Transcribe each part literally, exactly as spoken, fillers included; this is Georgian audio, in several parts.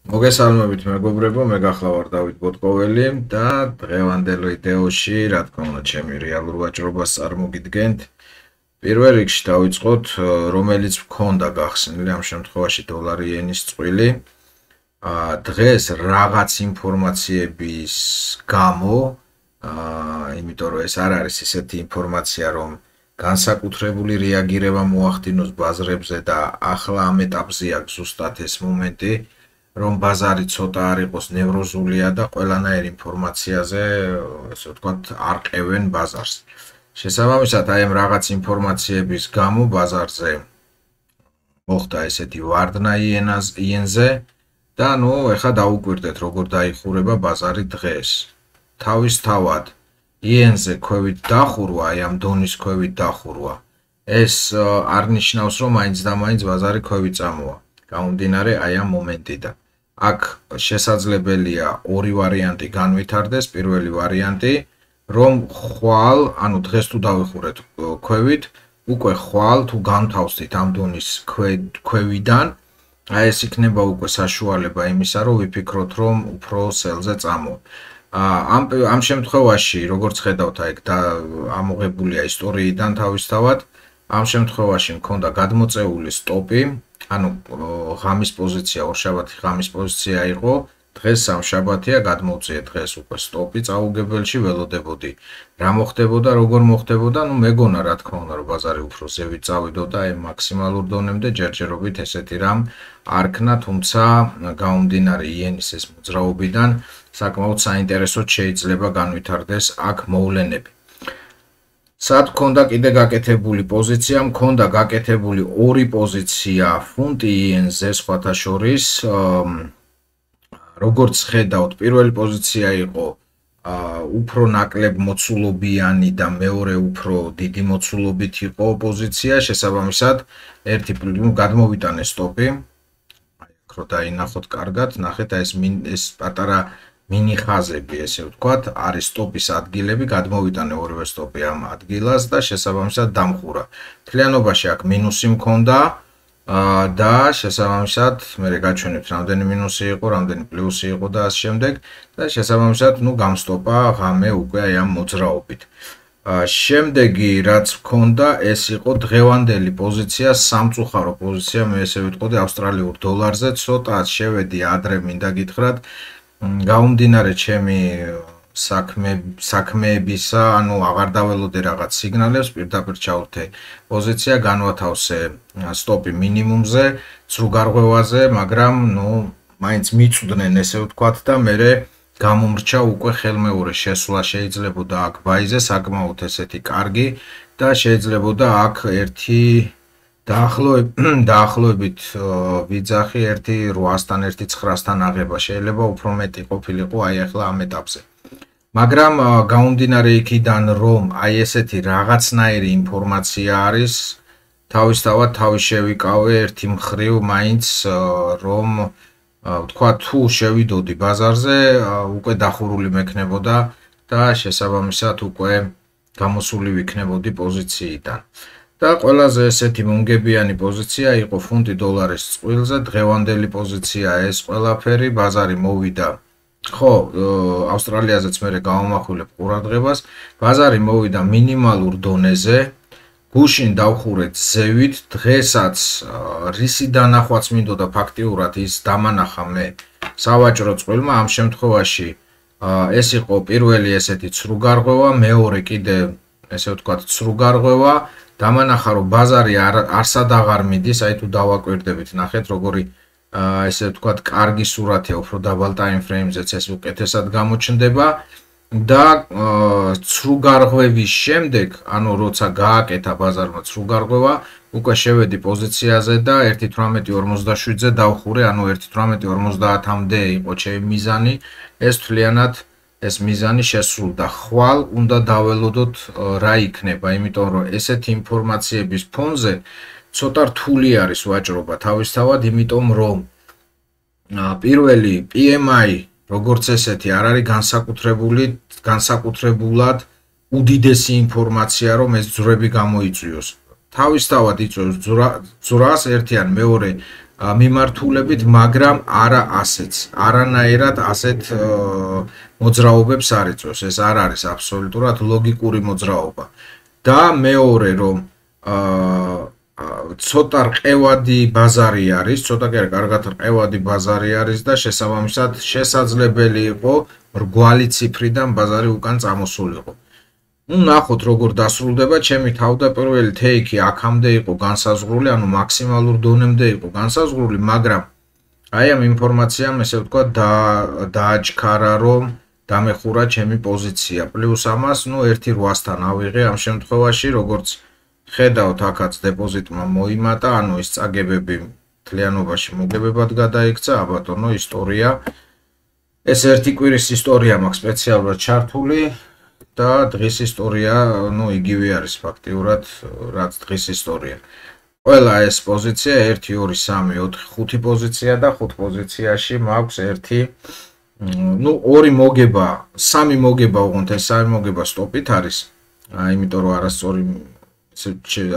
მოგესალმებით მეგობრებო, მე გახლავარ დავით ბოტკოველი და დღევანდელ ვიდეოში, რა თქმა უნდა, ჩემი რეალურ ვაჭრობას წარმოგიდგენთ. პირველ რიგში დავიწყოთ, რომელიც მქონდა გახსნილი ამ შემთხვევაში დოლარი იენის წყვილი. დღეს რაღაც ინფორმაციების გამო, იმიტომ რომ ეს არ არის ისეთი ინფორმაცია, რომ განსაკუთრებული რეაგირება მოახდინოს ბაზრებზე და ახლა ამ ეტაპზე აქვს ზუსტად ეს მომენტი. რომ ბაზარი ცოტა არ იყოს ნევროზულია და ყველანაირ ინფორმაციაზე, ესე ვთქვათ, არყევენ ბაზარს. შესაბამისად, აი ამ რაღაც ინფორმაციების გამო ბაზარზე მოხდა ესეთი ვარდნა იენზე და ნუ ეხლა დაუკვირდეთ, როგორ დაიხურება ბაზარი დღეს. თავისთავად, იენზე ქვევით დახურვა, აი ამ დონის ქვევით დახურვა, ეს არ ნიშნავს, რომ მაინც და მაინც ბაზარი ქვევით წამოვა. გამომდინარე აი ამ მომენტიდან. აქ შესაძლებელია ორი ვარიანტი განვითარდეს. პირველი ვარიანტი, რომ ხვალ, ანუ დღეს თუ დავიხურეთ ქვევით, უკვე ხვალ თუ განთავსდით ამ დონის ქვევიდან, აი ეს იქნება უკვე საშუალება იმისა, რომ ვიფიქროთ, რომ უფრო სელზე წამოვა. ამ ამ შემთხვევაში, როგორც ხედავთ, აი და ამოღებულია ისტორიიდან თავისთავად, ამ შემთხვევაში მქონდა გადმოწეული სტოპი. ანუ ღამის პოზიცია, ორშაბათი ღამის პოზიცია იყო, დღეს სამშაბათია, გადმოვწიე დღეს უკვე სტოპი წაუგებელში ველოდებოდი. რა მოხდებოდა, როგორ მოხდებოდა, ну მეგონა რა თქმა უნდა, რომ ბაზარი უფრო ზევით წავიდოდა, აი მაქსიმალურ დონემდე ჯერჯერობით ესეთი რამ არ ქნა, თუმცა გამომდინარე იენის ეს მოძრაობიდან საკმაოდ საინტერესოდ შეიძლება განვითარდეს აქ მოვლენები. სად მქონდა კიდე გაკეთებული პოზიცია, მქონდა გაკეთებული ორი პოზიცია ფუნტი იენზე სხვათა შორის. როგორც ხედავთ, პირველი პოზიცია იყო უფრო ნაკლებ მოცულობიანი და მეორე უფრო დიდი მოცულობით იყო პოზიცია, შესაბამისად, ერთი გადმოვიტანე სტოპი. აი, აქ რო დაინახოთ კარგად, ნახეთ ეს ეს პატარა მინი ხაზები, ესე ვთქვათ, არის სტოპის ადგილები, გადმოვიტანე ორივე სტოპი ამ ადგილას და შესაბამისად დამხურა. მთლიანობაში აქ მინუსი მქონდა და შესაბამისად, მე გაჩვენებთ, რამდენი მინუსი იყო, რამდენი პლუსი იყო და ასე შემდეგ და შესაბამისად, ნუ გამსტოპა ღამე უკვე აი ამ მოძრაობით. შემდეგი რაც მქონდა, ეს იყო დღევანდელი პოზიცია, სამწუხარო პოზიცია, მე ესე ვიტყოდი ავსტრალიურ დოლარზე, ცოტა შევედი ადრე მინდა გითხრათ. გამომდინარე ჩემი საქმეებისა, ანუ აღარ დაველოდე რაღაც სიგნალებს, პირდაპირ ჩავვრთე პოზიცია, განვათავსე სტოპი მინიმუმზე, ცრუგარღვევაზე, მაგრამ ნუ მაინც მიწვდნენ ესე ვთქვათ და მე გამომრჩა უკვე ხელმეორე შესვლა შეიძლებოდა აქ ბაიზე, საკმაოდ ესეთი კარგი და შეიძლებოდა აქ ერთი დაახლოებით ვიძახი ერთი რვასთან ერთი ცხრასთან აღება, შეიძლება უფრო მეტი ყოფილიყო აი ახლა ამ ეტაპზე. მაგრამ გამომდინარე იქიდან, რომ აი ესეთი რაღაცნაირი ინფორმაცია არის, თავისთავად თავი შევიკავე ერთი მხრივ მაინც, რომ ვთქვა თუ შევიდოდი ბაზარზე, უკვე დახურული მექნებოდა და შესაბამისად უკვე გამოსული ვიქნებოდი პოზიციიდან. და ყველაზე ესეთი მომგებიანი პოზიცია იყო ფუნტი დოლარის წყვილზე, დღევანდელი პოზიცია ეს ყველაფერი, ბაზარი მოვიდა. ხო, ავსტრალიაზეც მე გავამახვილებ ყურადღებას, ბაზარი მოვიდა მინიმალურ დონეზე, გუშინ დავხურეთ ზევით, დღესაც რისი დანახვაც მინდოდა ფაქტიურად ის დამანახა მე სავაჭრო წყვილმა, ამ შემთხვევაში ეს იყო პირველი ესეთი ცრუგარღვევა, მეორე კიდე ესე ვთქვათ ცრუგარღვევა. დამანახა რომ ბაზარი არსად აღარ მიდის, აი თუ დავაკვირდებით, ნახეთ როგორი ესე ვთქვათ კარგი სურათია, უფრო დაბალ ტაიმ ფრეიმზეც ეს უკეთესად გამოჩნდება და ცრუგარღვევის შემდეგ, ანუ როცა გააკეთა ბაზარმა ცრუგარღვევა, უკვე შევედი პოზიციაზე და ერთი თვრამეტი ორმოცდაშვიდზე დავხურე, ანუ ერთი თვრამეტი ორმოცდაათამდე იყო ჩემი მიზანი, ეს თვლიანად ეს მიზანი შესრულდა. ხვალ უნდა დაველოდოთ რა იქნება, იმიტომ რომ ესეთი ინფორმაციების ფონზე ცოტა რთული არის ვაჭრობა თავისთავად, იმიტომ რომ პირველი პი ემ აი როგორც ესეთი არ არის განსაკუთრებული, განსაკუთრებულად უდიდესი ინფორმაცია, რომ ეს ძვრები გამოიწვიოს. თავისთავად იწვევს ძვრას, ერთიან, მეორე მიმართულებით, მაგრამ არა ასეც. არანაირად ასეთ მოძრაობებს არ იწვევს. ეს არ არის აბსოლუტურად ლოგიკური მოძრაობა. და მეორე რომ ცოტა რყევადი ბაზარი არის, ცოტა კი არა, კარგად რყევადი ბაზარი არის და შესაბამისად შესაძლებელი იყო მრგვალი ციფრიდან ბაზარი უკან წამოსულიყო. ნუ ნახოთ როგორ დასრულდება, ჩემი თავდაპირველი თეიქი აქამდე იყო განსაზღვრული, ანუ მაქსიმალურ დონემდე იყო განსაზღვრული, მაგრამ აი ამ ინფორმაციამ ესე ვთქვა დააჩქარა, რომ დამეხურა ჩემი პოზიცია. პლუს ამას, ნუ ერთი რვასთან ავიღე ამ შემთხვევაში, როგორც ხედავთ, აქაც დეპოზიტმა მოიმატა, ანუ ის წაგებები მთლიანობაში მოგებებად გადაიქცა, აბატონო, ისტორია. ეს ერთი კვირის ისტორია მაქვს სპეციალურად ჩართული. და დღის ისტორია, ну, იგივე არის ფაქტიურად, რაც დღის ისტორია. ყველა ეს პოზიცია ერთი, ორი, სამი, ოთხი, ხუთი პოზიცია და ხუთ პოზიციაში მაქვს ერთი, ну, ორი მოგება, სამი მოგება, უღონთ ეს სამი მოგება სტოპით არის. იმიტომ რომ არასწორი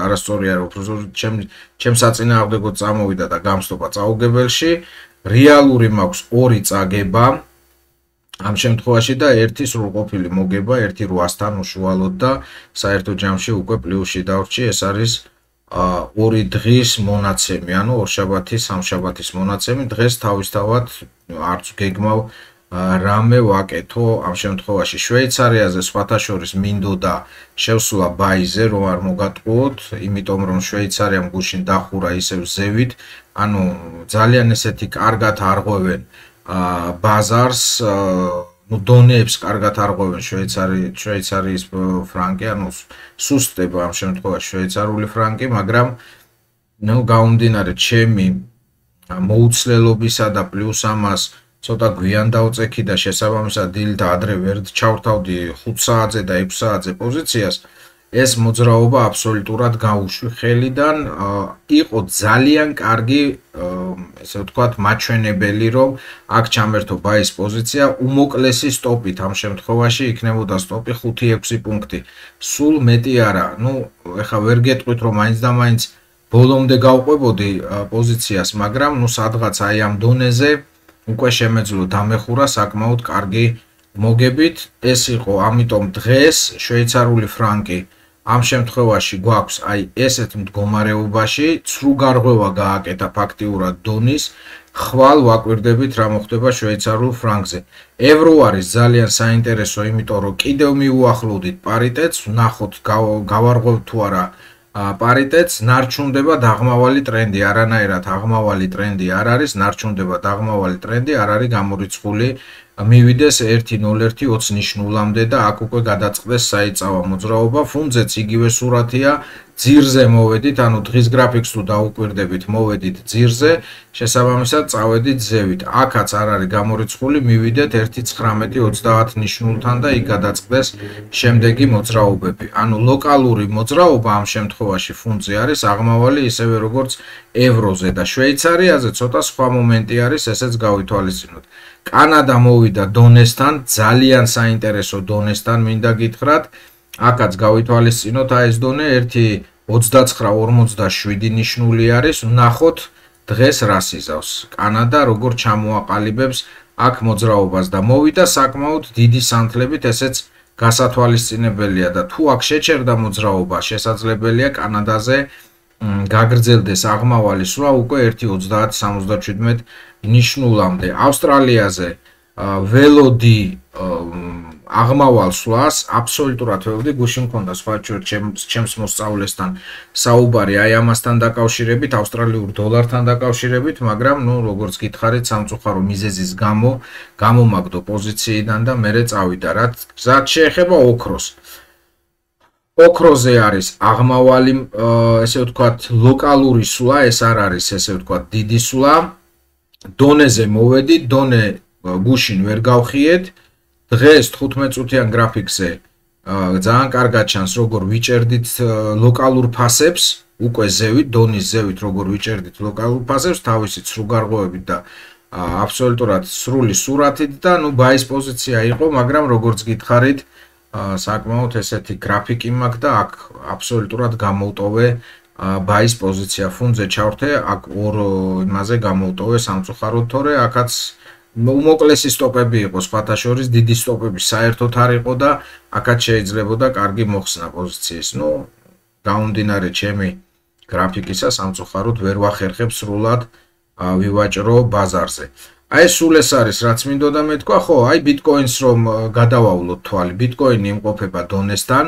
არასწორი არ უფრო ჩემ ჩემ საწინააღმდეგოდ წამოვიდა და გამსტოპა წაუგებელში. რეალური მაქვს ორი წაგება. ამ შემთხვევაში და ერთი სრულყოფილი მოგება ერთი რვასთან უშუალოდ და საერთო ჯამში უკვე პლუსში დავრჩი, ეს არის ორი დღის მონაცემი, ანუ ორშაბათის, სამშაბათის მონაცემი. დღეს თავისთავად არც გეგმავ რამე ვაკეთო ამ შემთხვევაში. შვეიცარიაზე სხვათა შორის მინდოდა შევსვლა ბაიზე, რომ არ მოგატყუოთ, იმიტომ რომ შვეიცარიამ გუშინ დახურა ისევ ზევით, ანუ ძალიან ესეთი კარგად არღვევენ ბაზარს, ну დონეებს კარგად არღვევენ შვეიცარი შვეიცარიის ფრანკი, ანუ სუსტდება ამ შემთხვევაში შვეიცარიული ფრანკი, მაგრამ ну გაუმდინარე ჩემი მოუცლელობისა და პლუს ამას ცოტა გვიან დავწექი და შესაბამისად დილით ადრე ვერ ჩავრთავდი ხუთ საათზე და ექვს საათზე პოზიციას. ეს მოძრაობა აბსოლუტურად გაუშვი ხელიდან, იყო ძალიან კარგი, ესე ვთქვათ, მაჩვენებელი, რომ აქ ჩამერთო ბაის პოზიცია, უმოკლესი სტოპით ამ შემთხვევაში იქნებოდა სტოპი ხუთი ექვსი პუნქტი. სულ მეტი არა. ნუ ეხა ვერ გეტყვით, რომ მაინც და მაინც ბოლომდე გავყვებოდი პოზიციას, მაგრამ ნუ სადღაც აი ამ დონეზე უკვე შემეძლო დამეხურა საკმაოდ კარგი მოგებით. ეს იყო, ამიტომ დღეს შვეიცარიული ფრანკი ამ შემთხვევაში გვაქვს აი ესეთ მდგომარეობაში, ცრუ გარღვევა გააკეთა ფაქტიურად დონის, ხვალ ვაკვირდებით რა მოხდება შვეიცარულ ფრანკზე. ევრო არის ძალიან საინტერესო, იმიტომ რომ კიდევ მიუახლოვდით პარიტეტს, ვნახოთ გავარღვევთ თუ არა პარიტეტს, ნარჩუნდება დაღმავალი ტრენდი, არანაირად აღმავალი ტრენდი არ არის, ნარჩუნდება დაღმავალი ტრენდი, არ არის გამორიცხული, მივიდეს ერთი ნულ ერთი ოცი ნიშნულამდე და აქ უკვე გადაწყდეს საიწავა მოძრაობა. ფუნძეც იგივე სურათია, ძირზე მოვედით, ანუ დღის გრაფიკს თუ დაუკვირდებით, მოვედით ძირზე, შესაბამისად წავედით ზევით. აქაც არ არის გამორიცხული, მივიდეთ ერთი ცხრამეტი ოცდაათ ნიშნულთან და იქ გადაწყდეს შემდეგი მოძრაობები. ანუ ლოკალური მოძრაობა ამ შემთხვევაში ფუნძე არის აღმავალი, ისევე როგორც ევროზე და შვეიცარიაზე ცოტა სხვა მომენტი არის, ესეც გავითვალისწინოთ. კანადა მოვიდა დონესთან, ძალიან საინტერესო დონესთან მინდა გითხრათ. აქაც გავითვალისწინოთ აი ეს დონე ერთი ოცდაცხრა ორმოცდაშვიდი ნიშნული არის. ვნახოთ დღეს რას იზავს. კანადა როგორ ჩამოაყალიბებს აქ მოძრაობას და მოვიდა საკმაოდ დიდი სანთლებით, ესეც გასათვალისწინებელია და თუ აქ შეჩერდა მოძრაობა, შესაძლებელია კანადაზე გაგრძელდეს აღმავალი სვლა უკვე ერთი ოცდაათ სამოცდაჩვიდმეტ ნიშნულამდე. ავსტრალიაზე ველოდი აღმავალ სვლას, აბსოლუტურად ველოდი, გუშინ მქონდა სხვა ჩემს მოსწავლესთან საუბარი აი ამასთან დაკავშირებით, ავსტრალიურ დოლართან დაკავშირებით, მაგრამ ნუ როგორც გითხარით, სამწუხარო მიზეზის გამო გამომაგდო პოზიციიდან და მერე წავიდა. რაც შეეხება ოქროს. ოქროზე არის აღმავალი, ესე ვთქვათ, ლოკალური სვლა, ეს არ არის, ესე ვთქვათ, დიდი სვლა. დონეზე მოვედი, დონე გუშინ ვერ გავხიეთ. დღეს თხუთმეტ-წუთიან გრაფიკზე ძალიან კარგად ჩანს, როგორ ვიჭერდით ლოკალურ ფასებს, უკვე ზევით, დონის ზევით, როგორ ვიჭერდით ლოკალურ ფასებს, თავისი ცრუ გარღვევებით და აბსოლუტურად სრული სურათით და ნუ ბაის პოზიცია იყო, მაგრამ როგორც გითხარით, საკმაოდ ესეთი გრაფიკი მაქვს და აქ აბსოლუტურად გამოვტოვე ბაის პოზიცია ფუნზე ჩავრთე, აქ ორ იმაზე გამოვტოვე სამწუხაროდ, თორე აქაც უმოკლესი სტოპები იყო, სხვათა შორის დიდი სტოპები საერთოდ არ იყო და აქაც შეიძლებოდა კარგი მოხსნა პოზიციის. ნუ გამომდინარე ჩემი გრაფიკისა სამწუხაროდ ვერ ვახერხებ სრულად ვივაჭრო ბაზარზე. აი სულ ეს არის რაც მინდოდა მეთქვა, ხო, აი ბიტკოინს რომ გადავავლოთ თვალი, ბიტკოინი იმყოფება დონესთან,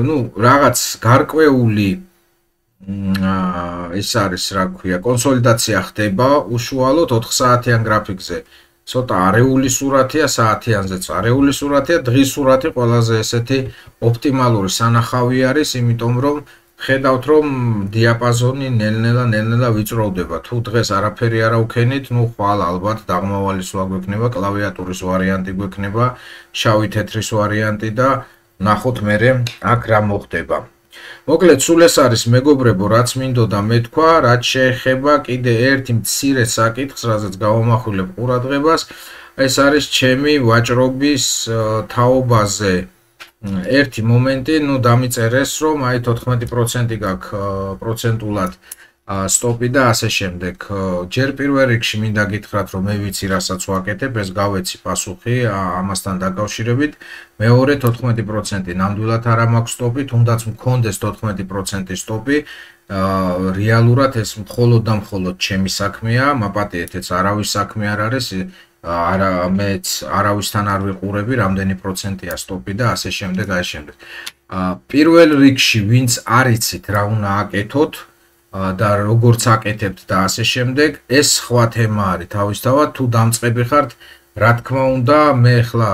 ნუ რაღაც გარკვეული ეს არის რა ქვია, კონსოლიდაცია ხდება უშუალოდ ოთხ საათიან გრაფიკზე. ცოტა არეული სურათია, საათიანზეც არეული სურათია, დღის სურათი ყველაზე ესეთი ოპტიმალური სანახავი არის, იმიტომ რომ ხედავთ რომ დიაპაზონი ნელ-ნელა ნელ-ნელა ვიწროვდება. თუ დღეს არაფერი არ ავქენით, ნუ ხვალ ალბათ დაღმავალი სვა გვექნება, კლავიატურის ვარიანტი გვექნება, შავი თეთრის ვარიანტი და ნახოთ მერე აქ რა მოხდება. მოკლედ სულ ეს არის მეგობრებო, რაც მინდოდა მეთქვა, რაც შეეხება კიდე ერთი მცირე საკითხს, რაზეც გავამახვილებ ყურადღებას, ეს არის ჩემი ვაჭრობის თაობაზე. ერთი მომენტი, ნუ დამიწერეს, რომ აი თოთხმეტი პროცენტი გაქვს პროცენტულად სტოპი და ასე შემდეგ. ჯერ პირველ რიგში მინდა გითხრათ, რომ მე ვიცი, რასაც ვაკეთებ, ეს გავეცი პასუხი ამასთან დაკავშირებით. მეორე თოთხმეტი პროცენტი ნამდვილად არ მაქვს სტოპი, თუნდაც მქონდეს თოთხმეტი პროცენტი სტოპი, რეალურად ეს მხოლოდ და მხოლოდ ჩემი საქმეა, მაპატიეთ, ეს არავის საქმე არ არის. არა მეც არავისთან არ ვიყურები, რამდენი პროცენტია სტოპი და ასე შემდეგ, ასე შემდეგ. პირველ რიგში ვინც არ იცით რა უნდა აკეთოთ და როგორც აკეთებთ და ასე შემდეგ, ეს სხვა თემა არის თავისთავად, თუ დამწყები ხართ, რა თქმა უნდა, მე ახლა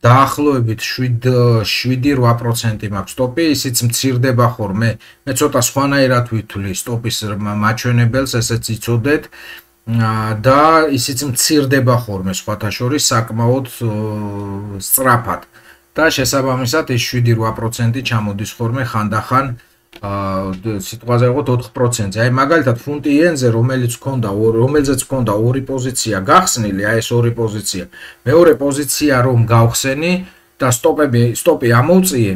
დაახლოებით შვიდი რვა პროცენტი მაქვს სტოპი, ისიც მცირდება ხოლმე. მე ცოტა სხვანაირად ვითვლი სტოპის მაჩვენებელს, ესეც იცოდეთ. და ისიც მცირდება ხოლმე სხვათა შორის საკმაოდ სწრაფად და შესაბამისად ეს შვიდი რვა პროცენტი ჩამოდის ხოლმე ხანდახან სიტყვაზე ვიყოთ ოთხ პროცენტზე. აი მაგალითად ფუნტი იენზე რომელიც ქონდა რომელზეც ქონდა ორი პოზიცია გახსნილი, აი ეს ორი პოზიცია. მეორე პოზიცია რომ გავხსენი და სტოპები სტოპი ამოვწიე,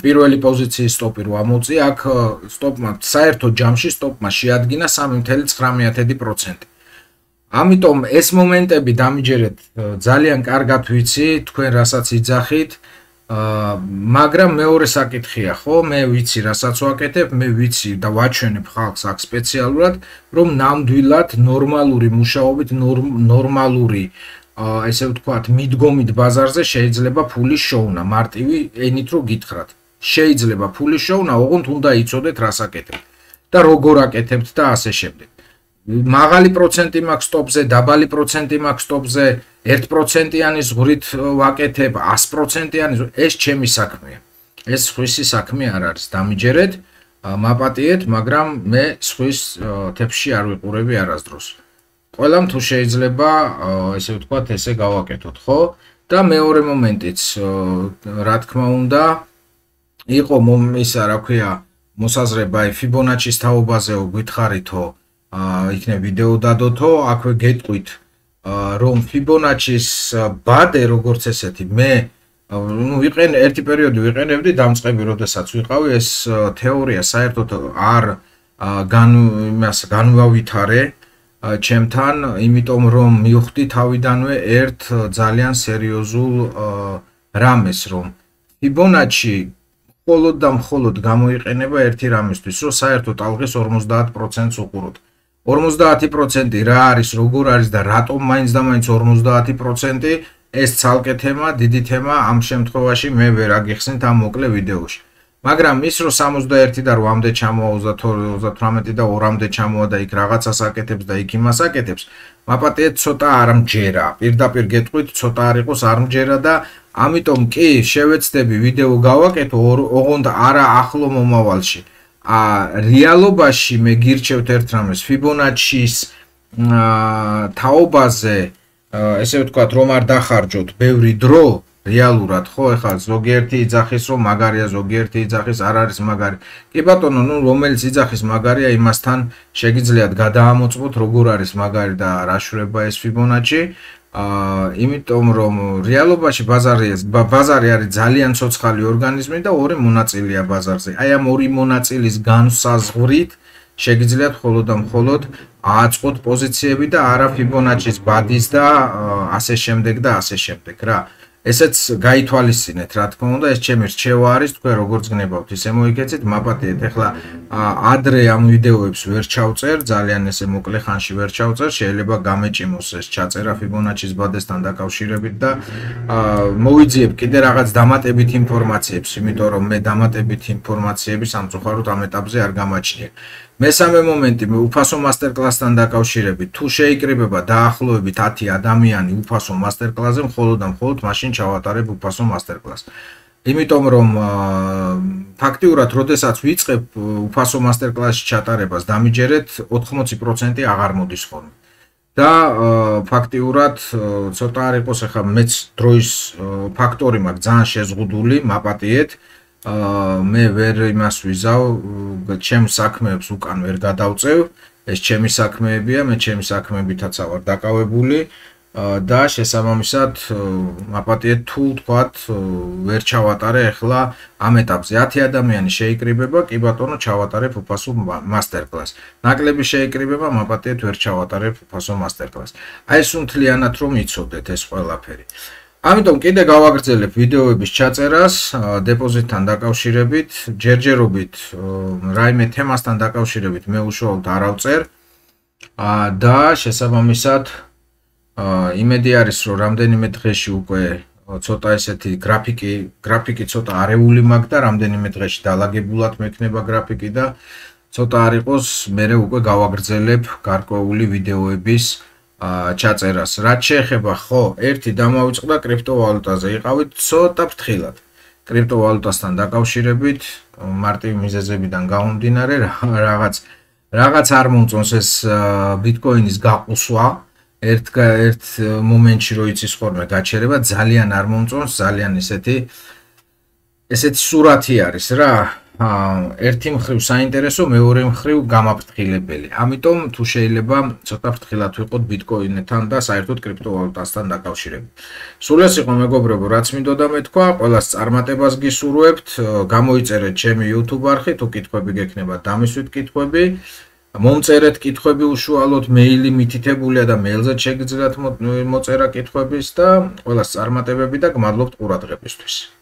პირველი პოზიციის სტოპი რო ამოვწიე, აქ სტოპმა საერთო ჯამში სტოპმა შეადგინა სამი ცხრა ცხრამეტი პროცენტი. ამიტომ ეს მომენტები დამიჯერეთ ძალიან კარგად ვიცი, თქვენ რასაც იძახით, მაგრამ მეორე საკითხია, ხო, მე ვიცი რასაც ვაკეთებ, მე ვიცი და ვაჩვენებ ხალხს აქ სპეციალურად, რომ ნამდვილად ნორმალური მუშაობით, ნორმალური ესე ვთქვათ, მიდგომით ბაზარზე შეიძლება ფული შოვნა, მარტივი ენით რო გითხრათ. შეიძლება ფული შოვნა, ოღონდ უნდა იცოდეთ რას აკეთებთ და როგორ აკეთებთ და ასე შემდეგ. მაღალი პროცენტი მაქვს სტოპზე, დაბალი პროცენტი მაქვს სტოპზე, ერთი პროცენტიანი ზღვრით ვაკეთებ, ასი პროცენტიანი, ეს ჩემი საქმეა. ეს სხვისი საქმე არ არის, დამიჯერეთ, მაპატიეთ, მაგრამ მე სხვის თეფში არ ვიყურები არასდროს. ყველამ თუ შეიძლება, ესე ვთქვათ, ესე გავაკეთოთ, ხო? და მეორე მომენტიც, რა თქმა უნდა, იყო ისა, რა ქვია, მოსაზრება ფიბონაჩის თაობაზეო გითხარითო, იქნებ ვიდეო დადოთო, აქვე გეტყვით, რომ ფიბონაჩის ბადე როგორც ესეთი, მე ნუ ვიყენ ერთი პერიოდი ვიყენებდი დამწყები, როდესაც ვიყავი, ეს თეორია საერთოდ არ იმას განვავითარე ჩემთან, იმიტომ რომ მივხვდი თავიდანვე ერთ ძალიან სერიოზულ რამეს, რომ ფიბონაჩი მხოლოდ და მხოლოდ გამოიყენება ერთი რამისთვის, რომ საერთოდ ალღის ორმოცდაათ პროცენტს უყუროთ. ორმოცდაათი პროცენტი რა არის, როგორ არის და რატომ მაინც და მაინც ორმოცდაათი პროცენტი, ეს ცალკე თემა, დიდი თემა, ამ შემთხვევაში მე ვერ აგიხსნით ამ მოკლე ვიდეოში. მაგრამ ის რომ სამოცდაერთი და რვამდე ჩამოვა, ოცდათვრამეტი და ორამდე ჩამოვა და იქ რაღაცას აკეთებს და იქ იმას აკეთებს, მაპატიეთ ცოტა არ მჯერა. პირდაპირ გეტყვით, ცოტა არ იყოს არ მჯერა და ამიტომ კი შევეცდები ვიდეო გავაკეთო, ოღონდ არა ახლო მომავალში. ა რეალობაში მე გირჩევთ ერთ რამეს, ფიბონაჩის თაობაზე, ესე ვთქვათ, რომ არ დახარჯოთ ბევრი დრო, რეალურად, ხო, ეხლა ზოგიერთი იძახის, რომ მაგარია, ზოგიერთი იძახის, არ არის მაგარი. კი ბატონო, ნუ რომელიც იძახის მაგარია, იმასთან შეგიძლიათ გადაამოწმოთ, როგორ არის მაგარი და რა შურება ეს ფიბონაჩი. აა იმიტომ რომ რეალობაში ბაზარი ბაზარი არის ძალიან ცოცხალი ორგანიზმი და ორი მონაწილეა ბაზარზე. აი ამ ორი მონაწილის განსაზღვრით შეგიძლიათ მხოლოდ და მხოლოდ აწყოთ პოზიციები და არა ფიბონაჩის ბადის და ასე შემდეგ და ასე შემდეგ რა. ესეც გაითვალისწინეთ, რა თქმა უნდა, ეს ჩემი რჩევა არის, თქვენ როგორც გნებავთ, ისე მოიგეცით, მაპატიეთ. ეხლა ადრე ამ ვიდეოებს ვერ ჩავწერ, ძალიან ესე მოკლე ხანში ვერ ჩავწერ, შეიძლება გამეჭიმოს ეს ჩაწერა ფიბონაჩის ბადესთან დაკავშირებით და მოვიძიებ კიდე რაღაც დამატებით ინფორმაციებს, იმიტომ რომ მე დამატებით ინფორმაციები სამწუხაროდ ამ ეტაპზე არ გამაჩნიე. მესამე მომენტი, უფასო მასტერკლასთან დაკავშირებით, თუ შეიკრიბება დაახლოებით ათი ადამიანი უფასო მასტერკლასზე, მხოლოდ და მხოლოდ მაშინ ჩავატარებ უფასო მასტერკლასს. იმიტომ რომ ფაქტიურად, როდესაც ვიწყებ უფასო მასტერკლასში ჩატარებას, დამიჯერეთ ოთხმოცი პროცენტი აღარ მოდის ხოლმე. და ფაქტიურად ცოტა არ იყოს, ახლა მეც დროის ფაქტორი მაქვს ძალიან შეზღუდული, მაპატიეთ. მე ვერ იმას ვიზავ, ჩემს საქმეებს უკან ვერ გადავწევ, ეს ჩემი საქმეებია, მე ჩემი საქმეებითაც ვარ დაკავებული და შესაბამისად მაპატიეთ თუ თქვათ ვერ ჩავატარე ახლა ამ ეტაპზე ათი ადამიანი შეიკრიბება, კი ბატონო ჩავატარებ უფასო მასტერკლასს. ნაკლები შეიკრიბება, მაპატიეთ ვერ ჩავატარებ უფასო მასტერკლასს. აი ეს მთლიანად რომ იცოდეთ ეს ყველაფერი. ამიტომ კიდე გავაგრძელებ ვიდეოების ჩაწერას დეპოზიტთან დაკავშირებით, ჯერჯერობით რაიმე თემასთან დაკავშირებით მე უშუალოდ არ ავწერ და შესაბამისად იმედი არის რომ რამდენიმე დღეში უკვე ცოტა ესეთი გრაფიკი, გრაფიკი ცოტა არეული მაქვს და რამდენიმე დღეში დაალაგებულად მექნება გრაფიკი და ცოტა არ იყოს მე უკვე გავაგრძელებ გარკვეული ვიდეოების ჩაწერას. რაც შეეხება, ხო, ერთი დამავიწყდა კრიპტოვალუტაზე. იყავით ცოტა ფრთხილად. კრიპტოვალუტასთან დაკავშირებით, მარტივი მიზეზებიდან გამომდინარე, რაღაც რაღაც არ მომწონს ეს ბიტკოინის გაყუსვა. ერთ ერთ მომენტში რო იცის ხოლმე გაჩერება, ძალიან არ მომწონს, ძალიან ესეთი ესეთი სურათი არის რა. ერთი მხრივ საინტერესო, მეორე მხრივ გამაფრთხილებელი. ამიტომ თუ შეიძლება ცოტა ფრთხილად ვიყოთ ბიტკოინთან და საერთოდ კრიპტოვალუტასთან დაკავშირებით. სულ ეს იყო მეგობრებო, რაც მინდოდა მეთქვა, ყველას წარმატებას გისურვებთ, გამოიწერეთ ჩემი YouTube არხი, თუ კითხვები გექნება, დამისვით კითხვები. მომწერეთ კითხვები უშუალოდ, მეილი მითითებულია და მეილზე შეგიძლიათ მოწერა კითხვების და ყველას წარმატებები და გმადლობთ ყურადღებისთვის.